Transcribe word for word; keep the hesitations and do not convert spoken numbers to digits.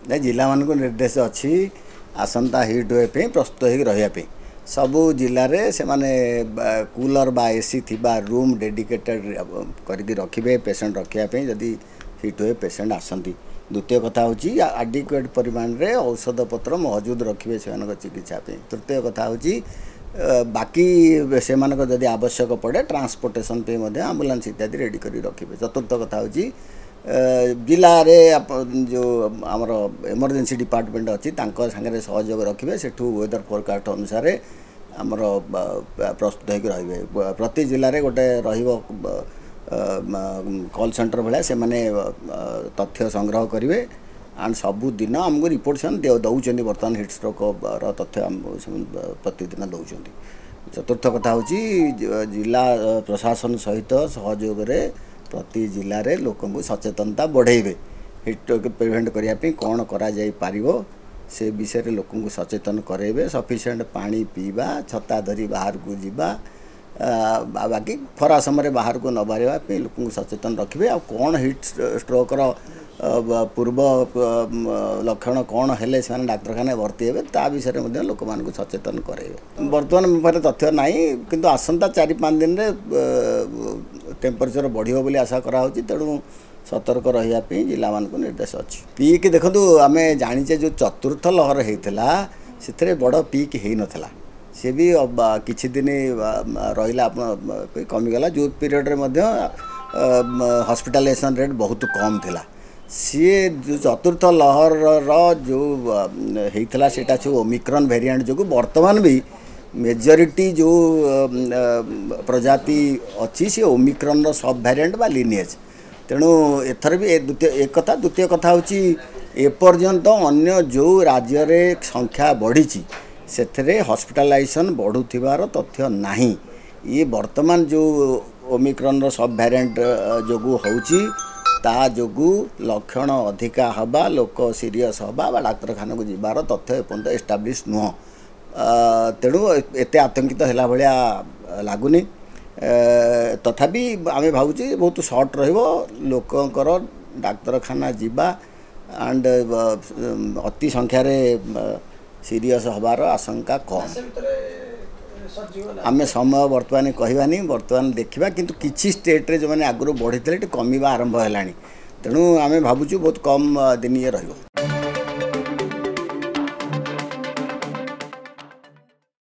ନାଇଁ, ଜିଲ୍ଲାମାନଙ୍କୁ ନିର୍ଦ୍ଦେଶ ଅଛି ଆସନ୍ତା ହିଟ୍ ୱେଭ୍ ପାଇଁ ପ୍ରସ୍ତୁତ ହୋଇକି ରହିବା ପାଇଁ। ସବୁ ଜିଲ୍ଲାରେ ସେମାନେ କୁଲର୍ ବା ଏସି ଥିବା ରୁମ୍ ଡେଡିକେଟେଡ଼ କରିକି ରଖିବେ ପେସେଣ୍ଟ ରଖିବା ପାଇଁ, ଯଦି ହିଟ୍ ୱେଭ୍ ପେସେଣ୍ଟ ଆସନ୍ତି। ଦ୍ୱିତୀୟ କଥା ହେଉଛି ଆଡିକ୍ୱେଟ୍ ପରିମାଣରେ ଔଷଧପତ୍ର ମହଜୁଦ ରଖିବେ ସେମାନଙ୍କ ଚିକିତ୍ସା ପାଇଁ। ତୃତୀୟ କଥା ହେଉଛି ବାକି ସେମାନଙ୍କ ଯଦି ଆବଶ୍ୟକ ପଡ଼େ ଟ୍ରାନ୍ସପୋର୍ଟେସନ୍ ପାଇଁ ମଧ୍ୟ ଆମ୍ବୁଲାନ୍ସ ଇତ୍ୟାଦି ରେଡ଼ି କରି ରଖିବେ। ଚତୁର୍ଥ କଥା ହେଉଛି ଜିଲ୍ଲାରେ ଯେଉଁ ଆମର ଏମର୍ଜେନ୍ସି ଡିପାର୍ଟମେଣ୍ଟ ଅଛି ତାଙ୍କ ସାଙ୍ଗରେ ସହଯୋଗ ରଖିବେ, ସେଠୁ ୱେଦର ଫୋରକାଷ୍ଟ ଅନୁସାରେ ଆମର ପ୍ରସ୍ତୁତ ହୋଇକି ରହିବେ। ପ୍ରତି ଜିଲ୍ଲାରେ ଗୋଟେ ରହିବ କଲ୍ ସେଣ୍ଟର ଭଳିଆ, ସେମାନେ ତଥ୍ୟ ସଂଗ୍ରହ କରିବେ ଆଣ୍ଡ ସବୁଦିନ ଆମକୁ ରିପୋର୍ଟ ସେମାନେ ଦେଉଛନ୍ତି। ବର୍ତ୍ତମାନ ହିଟ୍ ଷ୍ଟ୍ରୋକ୍ର ତଥ୍ୟ ଆମକୁ ସେମାନେ ପ୍ରତିଦିନ ଦେଉଛନ୍ତି। ଚତୁର୍ଥ କଥା ହେଉଛି ଜିଲ୍ଲା ପ୍ରଶାସନ ସହିତ ସହଯୋଗରେ ପ୍ରତି ଜିଲ୍ଲାରେ ଲୋକଙ୍କୁ ସଚେତନତା ବଢ଼େଇବେ। ହିଟ୍ ଷ୍ଟ୍ରୋକ୍ ପ୍ରିଭେଣ୍ଟ କରିବା ପାଇଁ କ'ଣ କରାଯାଇପାରିବ ସେ ବିଷୟରେ ଲୋକଙ୍କୁ ସଚେତନ କରାଇବେ। ସଫିସିଏଣ୍ଟ ପାଣି ପିଇବା, ଛତା ଧରି ବାହାରକୁ ଯିବା, ବାକି ଖରା ସମୟରେ ବାହାରକୁ ନ ବାହାରିବା ପାଇଁ ଲୋକଙ୍କୁ ସଚେତନ ରଖିବେ। ଆଉ କ'ଣ ହିଟ୍ ଷ୍ଟ୍ରୋକ୍ର ପୂର୍ବ ଲକ୍ଷଣ କ'ଣ ହେଲେ ସେମାନେ ଡାକ୍ତରଖାନାରେ ଭର୍ତ୍ତି ହେବେ ତା ବିଷୟରେ ମଧ୍ୟ ଲୋକମାନଙ୍କୁ ସଚେତନ କରାଇବେ। ବର୍ତ୍ତମାନ ମୋ ପାଖରେ ତଥ୍ୟ ନାହିଁ, କିନ୍ତୁ ଆସନ୍ତା ଚାରି ପାଞ୍ଚ ଦିନରେ ଟେମ୍ପରେଚର ବଢ଼ିବ ବୋଲି ଆଶା କରାହେଉଛି, ତେଣୁ ସତର୍କ ରହିବା ପାଇଁ ଜିଲ୍ଲାମାନଙ୍କୁ ନିର୍ଦ୍ଦେଶ ଅଛି। ପିକ୍ ଦେଖନ୍ତୁ, ଆମେ ଜାଣିଛେ ଯେଉଁ ଚତୁର୍ଥ ଲହର ହେଇଥିଲା ସେଥିରେ ବଡ଼ ପିକ୍ ହେଇନଥିଲା, ସେ ବି କିଛି ଦିନ ରହିଲା ଆପଣ କମିଗଲା। ଯେଉଁ ପିରିୟଡ଼ରେ ମଧ୍ୟ ହସ୍ପିଟାଲାଇଜେସନ୍ ରେଟ୍ ବହୁତ କମ୍ ଥିଲା। ସିଏ ଯେଉଁ ଚତୁର୍ଥ ଲହରର ଯେଉଁ ହେଇଥିଲା ସେଇଟା ସବୁ ଓମିକ୍ରନ୍ ଭେରିଆଣ୍ଟ ଯୋଗୁଁ। ବର୍ତ୍ତମାନ ବି ମେଜରିଟି ଯେଉଁ ପ୍ରଜାତି ଅଛି ସେ ଓମିକ୍ରନ୍ର ସବ୍ ଭ୍ୟାରିଏଣ୍ଟ ବା ଲିନିଏଜ୍। ତେଣୁ ଏଥର ବି ଦ୍ୱିତୀୟ ଏକ କଥା। ଦ୍ୱିତୀୟ କଥା ହେଉଛି ଏପର୍ଯ୍ୟନ୍ତ ଅନ୍ୟ ଯେଉଁ ରାଜ୍ୟରେ ସଂଖ୍ୟା ବଢ଼ିଛି ସେଥିରେ ହସ୍ପିଟାଲାଇଜେସନ୍ ବଢ଼ୁଥିବାର ତଥ୍ୟ ନାହିଁ। ଇଏ ବର୍ତ୍ତମାନ ଯେଉଁ ଓମିକ୍ରନ୍ର ସବ୍ ଭ୍ୟାରିଏଣ୍ଟ ଯୋଗୁଁ ହେଉଛି, ତା ଯୋଗୁଁ ଲକ୍ଷଣ ଅଧିକା ହେବା, ଲୋକ ସିରିୟସ୍ ହେବା ବା ଡାକ୍ତରଖାନାକୁ ଯିବାର ତଥ୍ୟ ଏପର୍ଯ୍ୟନ୍ତ ଏଷ୍ଟାବ୍ଲିଶ୍ ନୁହଁ। ତେଣୁ ଏତେ ଆତଙ୍କିତ ହେଲା ଭଳିଆ ଲାଗୁନି। ତଥାପି ଆମେ ଭାବୁଛୁ ବହୁତ ସର୍ଟ ରହିବ ଲୋକଙ୍କର ଡାକ୍ତରଖାନା ଯିବା ଆଣ୍ଡ ଅତି ସଂଖ୍ୟାରେ ସିରିୟସ୍ ହେବାର ଆଶଙ୍କା କମ୍। ଆମେ ସମୟ ବର୍ତ୍ତମାନ କହିବାନି, ବର୍ତ୍ତମାନ ଦେଖିବା। କିନ୍ତୁ କିଛି ଷ୍ଟେଟ୍ରେ ଯେଉଁମାନେ ଆଗରୁ ବଢ଼ିଥିଲେ ଟିକେ କମିବା ଆରମ୍ଭ ହେଲାଣି, ତେଣୁ ଆମେ ଭାବୁଛୁ ବହୁତ କମ୍ ଦିନ ଇଏ ରହିବ।